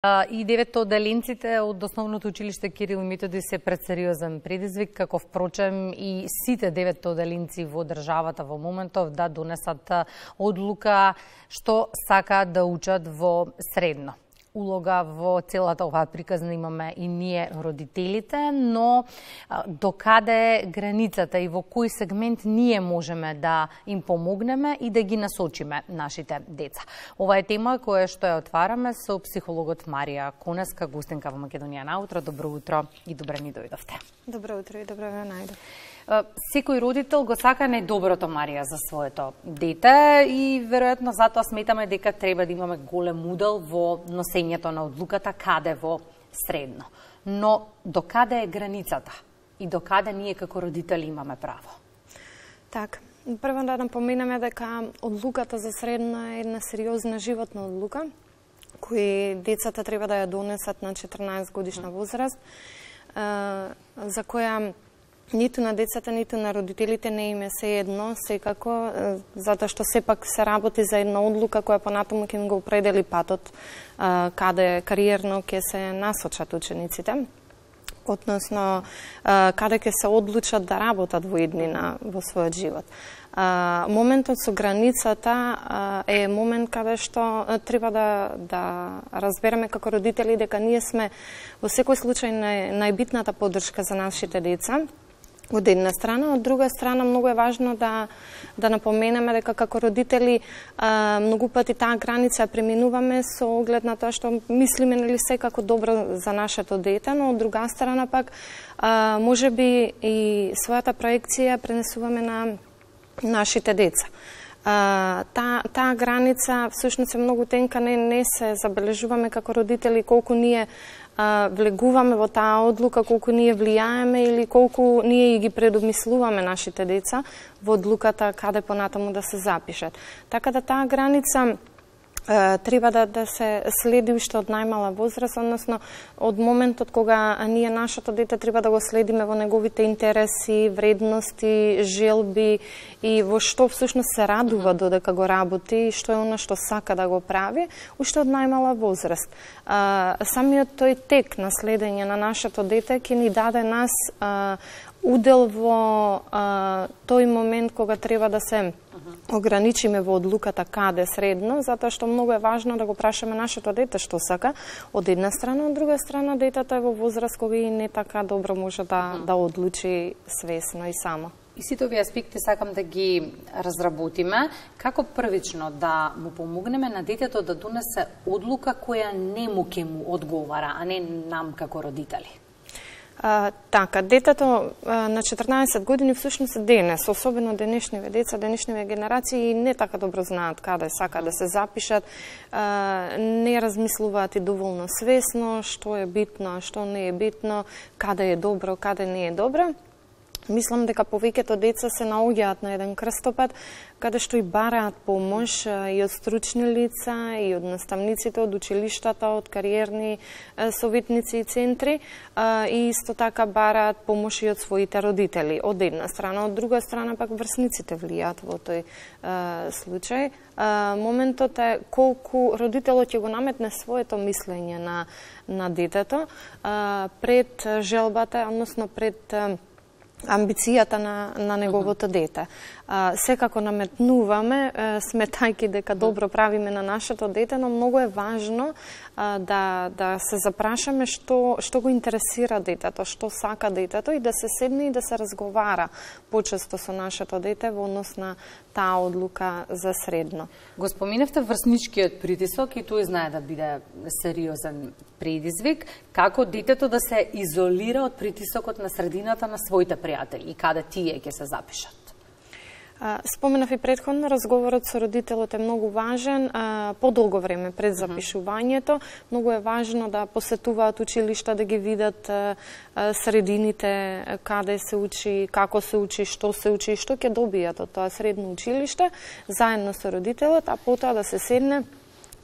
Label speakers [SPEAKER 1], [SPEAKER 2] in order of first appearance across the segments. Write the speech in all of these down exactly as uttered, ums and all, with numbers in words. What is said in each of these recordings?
[SPEAKER 1] И деветоделенците од основното училиште Кирил и Методи се пред сериозен предизвик, како впрочем и сите деветоделенци во државата во моментов да донесат одлука што сакаат да учат во средно. Улога во целата оваа приказна имаме и ние родителите, но до каде е границата и во кој сегмент ние можеме да им помогнеме и да ги насочиме нашите деца. Ова е тема која што ја отвараме со психологот Марија Конеска, гостинка во Македонија на утро. Добро утро и добре ни дојдовте.
[SPEAKER 2] Добро утро и добро ве најдов.
[SPEAKER 1] Секој родител го сака најдоброто, Марија, за своето дете и веројатно затоа сметаме дека треба да имаме голем удел во носењето на одлуката каде во средно. Но до каде е границата и до каде ние како родители имаме право?
[SPEAKER 2] Така, прво да напоменеме дека одлуката за средно е една сериозна животна одлука кои децата треба да ја донесат на четрнаесет годишна возраст, за која ниту на децата, ниту на родителите не име се едно, секако, затоа што сепак се работи за една одлука која понатаму ќе им го определи патот каде кариерно ќе се насочат учениците, односно каде ќе се одлучат да работат во иднина во својот живот. Моментот со границата е момент каде што треба да, да разбереме како родители дека ние сме во секој случај нај, најбитната поддршка за нашите деца, од една страна, од друга страна многу е важно да да напоменеме дека како родители а, многу пати таа граница преминуваме со оглед на тоа што мислиме нели секако добро за нашето дете, но од друга страна пак а, можеби и својата проекција пренесуваме на нашите деца. Uh, таа та граница всушност е многу тенка, не, не се забележуваме како родители колку ние uh, влегуваме во таа одлука, колку ние влијаеме или колку ние ги предомислуваме нашите деца во одлуката каде понатаму да се запишат. Така да таа граница треба да, да се следи уште од најмала возраст, односно од моментот кога ние нашето дете треба да го следиме во неговите интереси, вредности, желби и во што всушност се радува додека го работи и што е она што сака да го прави, уште од најмала возраст. А, самиот тој тек на следење на нашето дете ќе ни даде нас а, удел во а, тој момент кога треба да се ограничиме во одлуката каде средно, затоа што многу е важно да го прашаме нашето дете што сака од една страна, од друга страна детето е во возраст кога и не така добро може да, да одлучи свесно и само.
[SPEAKER 1] И сите овие аспекти сакам да ги разработиме, како првично да му помогнеме на детето да донесе одлука која не му ке му одговара, а не нам како родители.
[SPEAKER 2] А, така, детето а, на четрнаесет години всушност денес, особено денешниве деца, денешниве генерации не така добро знаат каде сака да се запишат, а, не размислуваат и доволно свесно што е битно, што не е битно, каде е добро, каде не е добро. Мислам дека повеќето деца се наоѓаат на еден крстопат каде што и бараат помош и од стручни лица, и од наставниците, од училиштата, од кариерни советници и центри, и исто така бараат помош и од своите родители. Од една страна, од друга страна пак врсниците влијаат во тој случај. Моментот е колку родителот ќе го наметне своето мислење на, на детето пред желбата, односно пред амбицијата на, на неговото дете. А, секако наметнуваме, сметајки дека добро правиме на нашето дете, но многу е важно а, да, да се запрашаме што, што го интересира детето, што сака детето и да се седне и да се разговара почесто со нашето дете во однос на таа одлука за средно.
[SPEAKER 1] Го споминавте врсничкиот притисок и тој знае да биде сериозен предизвик. Како детето да се изолира од притисокот на средината на своите пријатели и каде тие ќе се запишат?
[SPEAKER 2] Споменав и претходно, разговорот со родителот е многу важен, подолго време пред запишувањето. Многу е важно да посетуваат училишта, да ги видат средините, каде се учи, како се учи, што се учи, што ќе добијат од тоа средно училиште, заедно со родителот, а потоа да се седне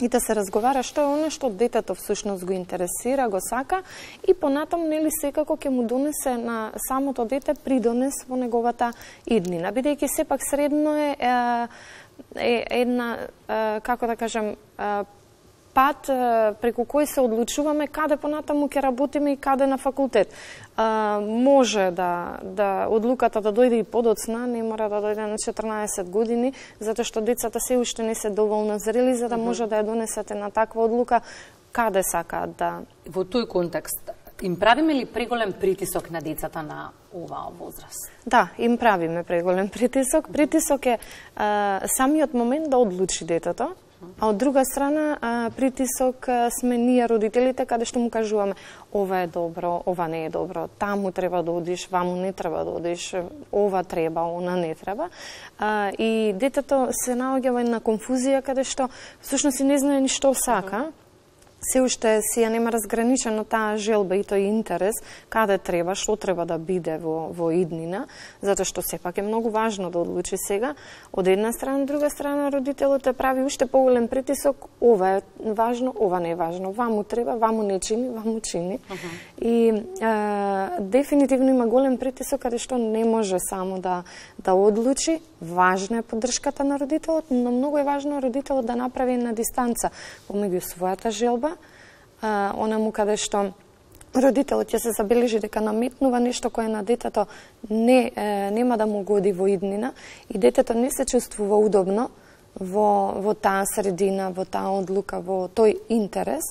[SPEAKER 2] и да се разговара што е оно што детето всушност го интересира, го сака и понатаму нели секако ќе му донесе на самото дете придонес во неговата иднина, бидејќи сепак средно е, е, е една, е, како да кажем, е, пат преку кој се одлучуваме каде понатаму ќе работиме и каде на факултет. А, може да, да одлуката да дојде и подоцна, не мора да дојде на четрнаесет години, затоа што децата се уште не се доволно зрели за да може да ја донесете на таква одлука каде сакаат да.
[SPEAKER 1] Во тој контекст, им правиме ли преголем притисок на децата на оваа возраст?
[SPEAKER 2] Да, им правиме преголем притисок. Притисок е а, самиот момент да одлучи детето, а од друга страна а, притисок а, сме ние родителите каде што му кажуваме ова е добро, ова не е добро, таму треба да одиш, ваму не треба да одиш, ова треба, она не треба. А, и детето се наоѓа во една конфузија каде што всушност и не знае ни што сака. Се уште си ја нема разграничено таа желба и тој интерес, каде треба, што треба да биде во, во иднина, затоа што сепак е многу важно да одлучи сега. Од една страна, од друга страна, родителот прави уште поголем притисок, ова е важно, ова не е важно, ваму треба, ваму не чини, ваму чини. Uh -huh. И а, дефинитивно има голем притисок, каде што не може само да, да одлучи. Важна е поддршката на родителот, но многу е важно родителот да направи една дистанца помеѓу својата желба, а, онаму каде што родителот ќе се забележи дека наметнува нешто кое на детето не, е, нема да му годи во иднина и детето не се чувствува удобно во, во таа средина, во таа одлука, во тој интерес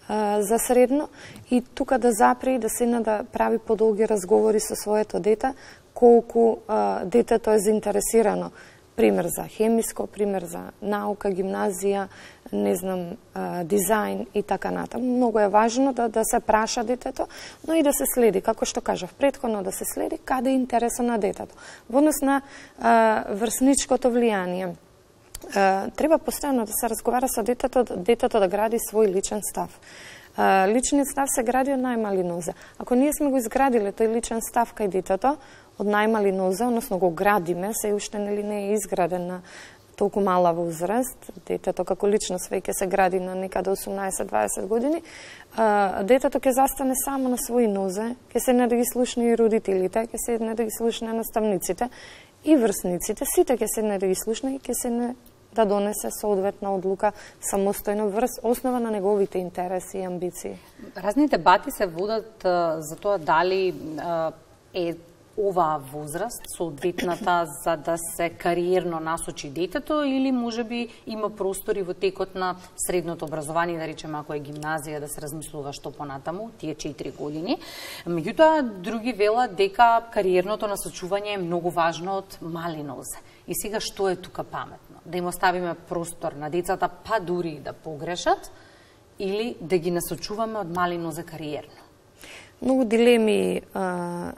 [SPEAKER 2] а, за средно и тука да запре да седне да прави подолги разговори со своето дете, колку а, детето е заинтересирано. Пример за хемиско, пример за наука, гимназија, не знам, а, дизајн и така натаму. Многу е важно да, да се праша детето, но и да се следи, како што кажав предходно, да се следи каде е интересот на детето. Во однос на а, врсничкото влијание, а, треба постојано да се разговара со детето, детето да гради свој личен став. А, личниот став се гради од најмали нозе. Ако ние сме го изградиле тој личен став кај детето, од најмали нозе, односно го градиме, се уште нели не е изграден на толку мала возраст, детето како личност веќе се гради на некаде осумнаесет-дваесет години, а, детето ќе застане само на своји нозе, ќе седне да ги слушне и родителите, ќе седне да ги слушне наставниците и врсниците, сите ќе седне да ги слушне и ќе седне да донесе соодветна одлука самостојно врз основа на неговите интереси и амбиции.
[SPEAKER 1] Разни дебати се водат а, за тоа дали а, е оваа возраст соодветната за да се кариерно насочи детето или можеби има простори во текот на средното образование, да речеме ако е гимназија, да се размислува што понатаму, тие четири години. Меѓутоа, други велат дека кариерното насочување е многу важно од мали нозе. И сега што е тука паметно? Да им оставиме простор на децата, па дури да погрешат, или да ги насочуваме од мали нозе кариерно?
[SPEAKER 2] Многу дилеми а,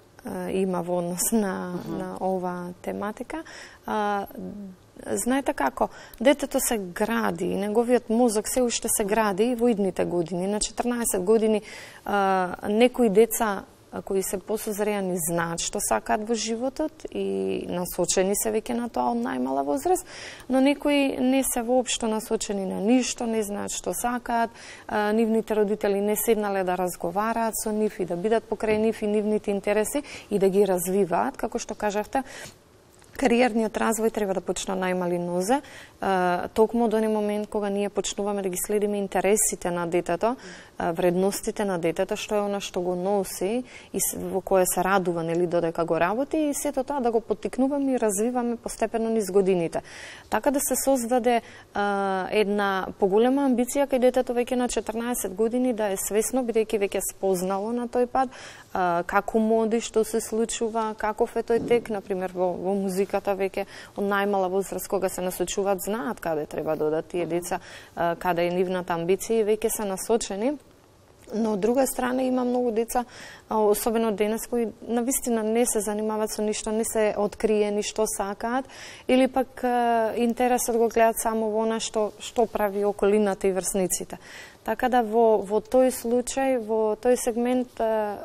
[SPEAKER 2] има во однос на, uh -huh. на ова тематика. А, знаете како, детето се гради, неговиот мозок се уште се гради во идните години. На четрнаесет години а, некои деца кои се посозреани знаат што сакаат во животот и насочени се веќе на тоа од најмала возраст, но некои не се воопшто насочени на ништо, не знаат што сакаат, а, нивните родители не седнале да разговараат со нив и да бидат покрај нив и нивните интереси и да ги развиваат, како што кажавте. Кариерниот развој треба да почне најмали нозе, токму до оној момент кога ние почнуваме да ги следиме интересите на детето, вредностите на детето, што е она што го носи и во кое се радува нели додека го работи и сето тоа да го поттикнуваме и развиваме постепено низ годините. Така да се создаде а, една поголема амбиција кај детето веќе на четрнаесет години да е свесно, бидејќи веќе спознало на тој пат а, како моди, што се случува, каков е тој тек, например во, во музиката веќе од најмала возраст кога се насочуваат знаат каде треба да одат тие деца, а, каде е нивната амбиција и веќе се насочени. Но од друга страна има многу деца, особено денес, кои навистина не се занимаваат со ништо, не се откриени што сакаат, или пак интересот го гледаат само во она што, што прави околината и врсниците. Така да во, во тој случај, во тој сегмент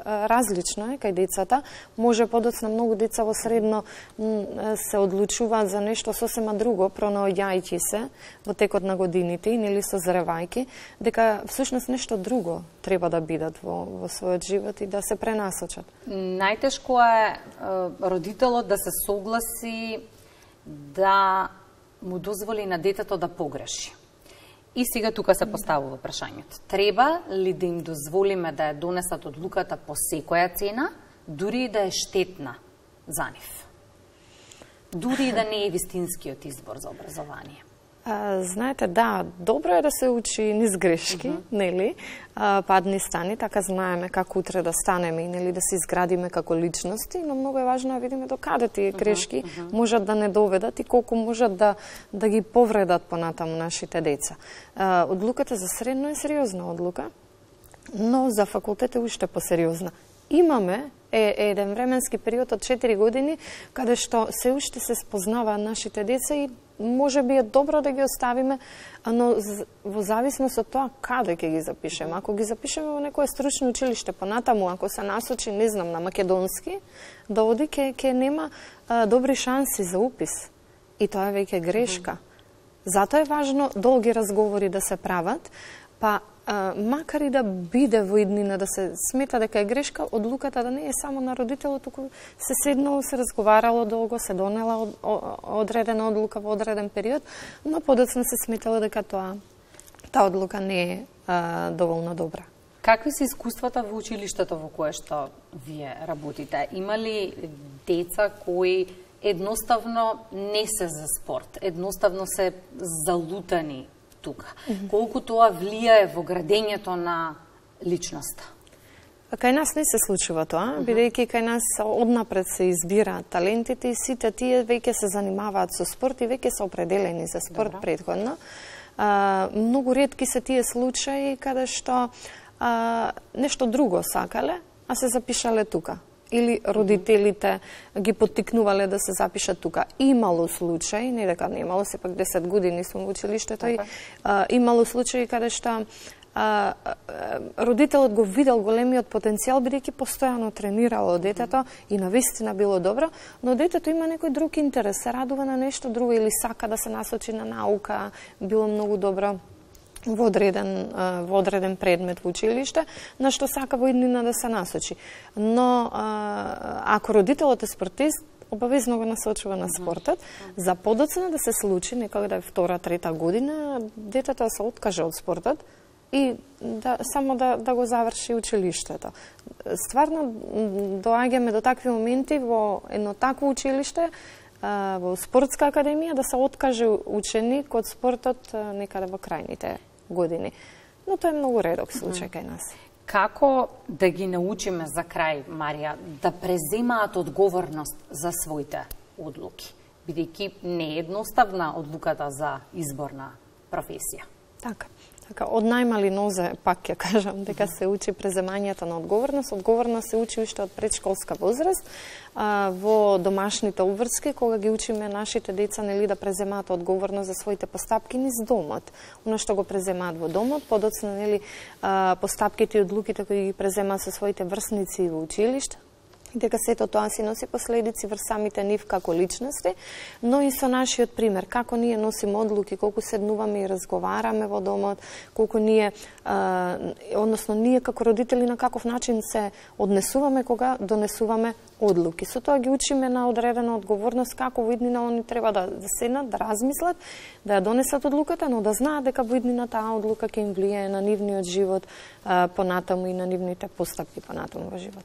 [SPEAKER 2] различно е кај децата. Може подоцна многу деца во средно се одлучуваат за нешто сосема друго, пронаоѓајќи се во текот на годините и нели созревајќи, дека всушност нешто друго треба да бидат во, во својот живот и да се пренасочат.
[SPEAKER 1] Најтешко е родителот да се согласи да му дозволи на детето да погреши. И сега тука се поставува прашањето. Треба ли да им дозволиме да ја донесат одлуката по секоја цена, дури и да е штетна за нив? Дури и да не е вистинскиот избор за образование?
[SPEAKER 2] А, знаете, да, добро е да се учи низ грешки, uh -huh. нели? А, падни стани, така знаеме како утре да станеме и нели да се изградиме како личности, но многу е важно да видиме до каде тие грешки uh -huh. можат да не доведат и колку можат да да ги повредат понатаму нашите деца. А, одлуката за средно е сериозна одлука, но за факултет е уште посериозна. Имаме е еден временски период од четири години каде што се уште се спознаваат нашите деца и може би е добро да ги оставиме, но во зависност од тоа каде ќе ги запишеме. Ако ги запишеме во некое стручно училиште понатаму, ако се насочи, не знам, на македонски, да оди ќе ќе нема а, добри шанси за упис. И тоа е веќе грешка. Затоа е важно долги разговори да се прават, па А, макар и да биде во иднина да се смета дека е грешка, одлуката да не е само на родителот, туку се седнало, се разговарало долго, се донела од, одредена одлука во одреден период, но подоцна се сметало дека тоа таа одлука не е а, доволно добра.
[SPEAKER 1] Какви се искуствата во училиштето во кое што вие работите? Има ли деца кои едноставно не се за спорт, едноставно се залутани тука? Mm-hmm. Колку тоа влијае во градењето на личноста?
[SPEAKER 2] Кај нас не се случува тоа, mm-hmm. бидејќи кај нас однапред се избираат талентите и сите тие веќе се занимаваат со спорт и веќе се определени за спорт Добра. Предходно. А, многу ретки се тие случаи каде што а, нешто друго сакале, а се запишале тука. Или родителите ги поттикнувале да се запишат тука. Имало случаи, не дека не имало, сепак десет години сум во училиштето и а, имало случаи каде што а, а, родителот го видел големиот потенцијал, бидејќи постојано тренирало детето mm -hmm. и навистина било добро, но детето има некој друг интерес, се радува на нешто друго или сака да се насочи на наука, било многу добро во одреден, во одреден предмет во училиште, на што сака во иднина да се насочи. Но ако родителот е спортист, обавезно го насочува на спортот, за подоцна да се случи, некога да е втора, трета година, детето се откаже од спортот и да, само да, да го заврши училиштето. Стварно, доаѓаме до такви моменти во едно такво училиште, во спортска академија, да се откаже ученик од спортот некаде во крајните години. Но тоа е многу редок случај кај нас.
[SPEAKER 1] Како да ги научиме за крај, Марија, да преземаат одговорност за своите одлуки? Бидејќи не е едноставна одлуката за избор на професија.
[SPEAKER 2] Така. Така, од најмали нозе, пак ќе кажам, дека се учи преземањето на одговорност. Одговорност се учи уште од предшколска возраст, а, во домашните обврски, кога ги учиме нашите деца нели да преземаат одговорност за своите постапки низ домот. Оно што го преземаат во домот, подоцна нели а, постапките и одлуките кои ги преземаат со своите врсници во училиште, дека сето тоа си носи последици врз самите нив како личности, но и со нашиот пример, како ние носиме одлуки, колку седнуваме и разговараме во домот, колку ние, а, односно ние како родители на каков начин се однесуваме кога донесуваме одлуки. Со тоа ги учиме на одредена одговорност како во иднина они треба да, да седнат, да размислат, да ја донесат одлуката, но да знаат дека во иднина таа одлука ќе им влијае на нивниот живот а, понатаму и на нивните постапки понатаму во живот.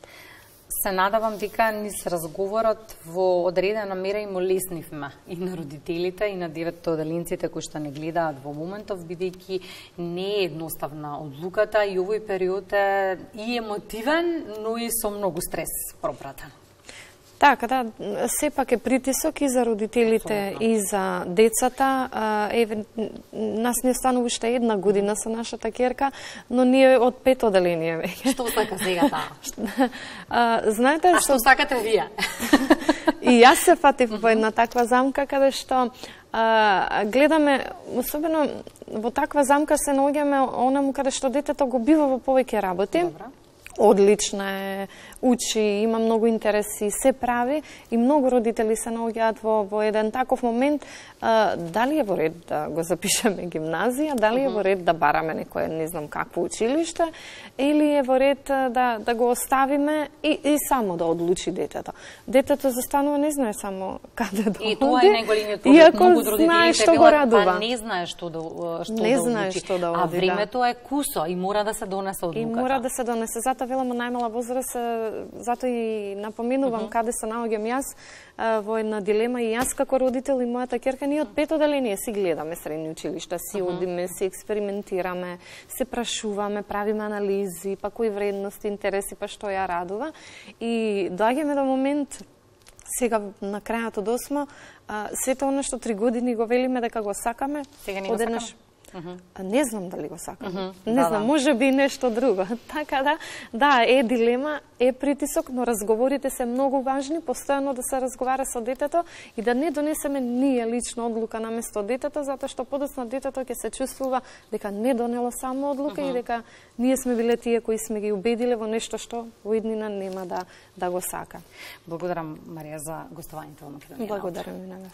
[SPEAKER 1] Се надавам дека низ разговорот во одредена мера им олеснивме и на родителите и на деветоделенците кои што не гледаат во моментов, бидејќи не е едноставна одлуката и овој период е и емотивен, но и со многу стрес пропратен.
[SPEAKER 2] Така, да, сепак е притисок и за родителите Абсолютно. И за децата. Еве, нас не останува уште една година со нашата ќерка, но ние од пет оделение веќе.
[SPEAKER 1] Што сака сега таа?
[SPEAKER 2] Знаете,
[SPEAKER 1] а што сакате вие?
[SPEAKER 2] И јас се фатив во една таква замка каде што а, гледаме, особено во таква замка се наоѓаме онаму каде што детето го бива во повеќе работи.
[SPEAKER 1] Добра.
[SPEAKER 2] одлична е, учи, има многу интереси, се прави и многу родители се наоѓаат во, во еден таков момент, а, дали е во ред да го запишеме гимназија, дали е во ред да бараме некое не знам какво училиште, или е во ред да, да го оставиме и, и само да одлучи детето. Детето застанува не знае само каде да оди.
[SPEAKER 1] И тоа е најголемиот проблем.
[SPEAKER 2] Иако
[SPEAKER 1] Многу од родителите
[SPEAKER 2] знае што го
[SPEAKER 1] велат,
[SPEAKER 2] радува.
[SPEAKER 1] Па не знае што да што
[SPEAKER 2] не
[SPEAKER 1] да
[SPEAKER 2] знае
[SPEAKER 1] одлучи.
[SPEAKER 2] што да оди,
[SPEAKER 1] а времето да. е кусо и мора да се донесе одлуката.
[SPEAKER 2] И мора да се донесе. Затоа велам најмала возраст, затоа и напоменувам uh -huh. каде се наоѓам јас во една дилема и јас како родител и мојата ќерка, ние од пето оделение си гледаме средни училишта, си uh -huh. одиме, си експериментираме, се прашуваме, правиме анализи, па кои вредности, интереси, па што ја радува. И доаѓаме до момент сега на крајот од осма, сето она што три години го велиме дека го сакаме,
[SPEAKER 1] сега не го
[SPEAKER 2] одеднаш
[SPEAKER 1] сакаме. Uh -huh.
[SPEAKER 2] Не знам дали го сакам. Uh -huh. Не
[SPEAKER 1] да,
[SPEAKER 2] знам,
[SPEAKER 1] да.
[SPEAKER 2] може би нешто друго. Така да, да, е дилема, е притисок, но разговорите се многу важни, постојано да се разговара со детето и да не донесеме ние лично одлука на место детето, затоа што подоцна детето ќе се чувствува дека не донело само одлука uh -huh. и дека ние сме биле тие кои сме ги убедиле во нешто што во иднина нема да да го сака.
[SPEAKER 1] Благодарам, Марија, за гостувањето во Македонија.
[SPEAKER 2] Благодарам и на вас.